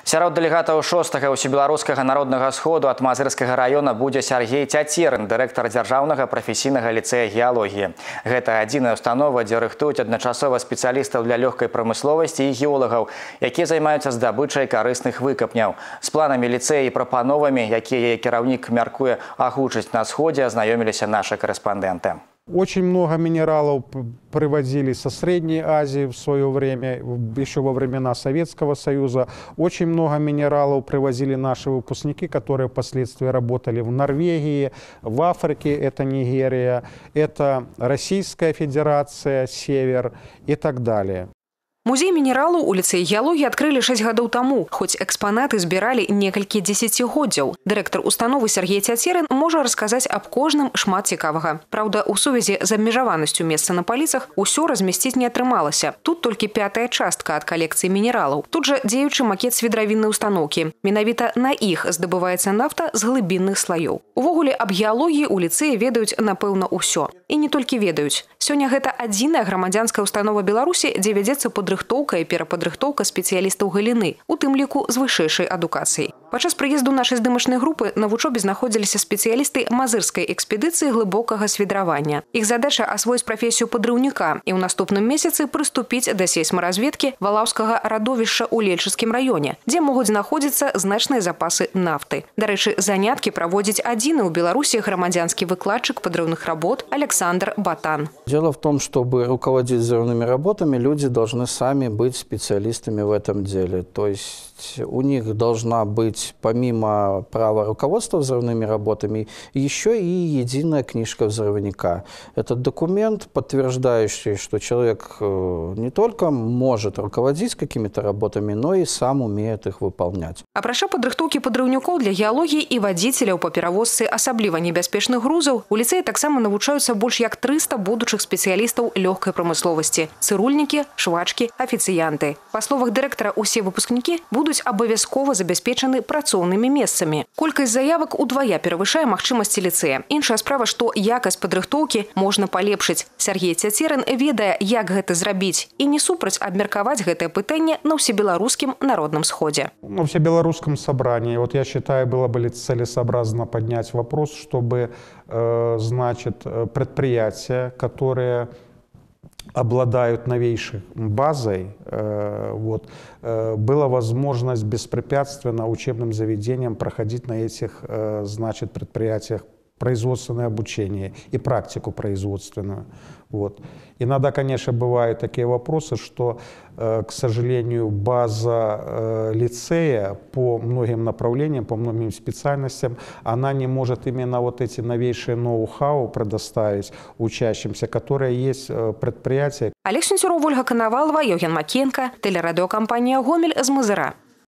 Сярод дэлегатаў 6-го ўсебеларускага народнага сходу ад Мазырскага района будзе Сергей Цяцерын, дырэктар дзяржаўнага прафесійнага ліцэя геалогіі. Гэта адзіная установа, дзе рыхтуюць адначасова спецыялістаў для лёгкай прамысловасці і геолагаў, якія займаюцца здабычай карысных выкапняў. З планамі ліцэя і прапановамі, якія кіраўнік мяркуе агучыць на сходзе, азнаёміліся нашы корэспандэнты. Очень много минералов привозили со Средней Азии в свое время, еще во времена Советского Союза. Очень много минералов привозили наши выпускники, которые впоследствии работали в Норвегии, в Африке, это Нигерия, это Российская Федерация, Север и так далее. Музей мінералу у ліцэі геалогіі адкрылі 6 гадоў таму, хоць экспанаты збіралі некалькі дзесяцігоддзяў. Дырэктар установы Сергей Цяцерын можа расказаць аб кожным шмат цікавага. Праўда, у сувязі з абмежаванасцю месца на паліцах усё размясціць не атрымалася. Тут толькі 5-я частка ад калекцыі мінералаў. Тут жа дзеючы макет свідравіннай устаноўкі. Менавіта на іх здабываецца нафта з глыбінных слаёў. Увогуле, аб геалогіі у ліцэі ведаюць, напэўна, усё. І не толькі ведаюць. Сёння гэта адзіная грамадзянская установа Беларусі, дзе вядзецца падрыхтоўка і перападрыхтоўка спецыялістаў галіны, у тым ліку з вышэйшай адукацыяй. Падчас прыезду нашай здымачнай групы на вучобе знаходзіліся спецыялісты мазырскай экспедыцыі глыбокага свідравання. Іх задача асвоіць прафесію падрыўніка і ў наступным месяцы прыступіць да сейсмаразведкі валаўскага радовішча ў Лельчыцкім раёне, дзе могуць знаходзіцца значныя запасы нафты. Дарэчы, заняткі праводзіць адзіны ў Беларусі грамадзянскі выкладчык подрывных работ Александр Батан. Дело в том, чтобы руководить взрывными работами, люди должны сами быть специалистами в этом деле. То есть у них должна быть, помимо права руководства взрывными работами, еще и единая книжка взрывника. Это документ, подтверждающий, что человек не только может руководить какими-то работами, но и сам умеет их выполнять. Апрача падрыхтоўкі падрыўнікоў для геалогіі і вадзіцеляў па перавозцы асабліва небяспечных грузаў, у ліцэі таксама навучаюцца больш як 300 будучых спецыялістаў лёгкай прамысловасці – цырульнікі, швачкі, афіцыянты. Па словах дырэктара, усе выпускнікі будуць абавязкова забяспечаны працоўнымі месцамі. Колькасць заявак удвая перавышае магчымасці ліцэя. Іншая справа, што якасць падрыхтоўкі можна палепшыць. Сергей Цяцерын ведае, як гэта зрабіць, і не супраць абмеркаваць гэтае пытанне на ўсебеларускім народным сходзе. На всебелорусском собрании, вот я считаю, было бы целесообразно поднять вопрос, чтобы, значит, предприятия, которые обладают новейшей базой, была возможность беспрепятственно учебным заведениям проходить на этих, значит, предприятиях производственное обучение и практику производственную. Иногда, конечно, бывают такие вопросы, что, к сожалению, база лицея по многим направлениям, по многим специальностям, она не может именно вот эти новейшие ноу-хау предоставить учащимся, которые есть предприятия. Олег Сенцюров, Ольга Коновалова, Євген Макієнко, телерадіокомпанія «Гомель» з Мазира.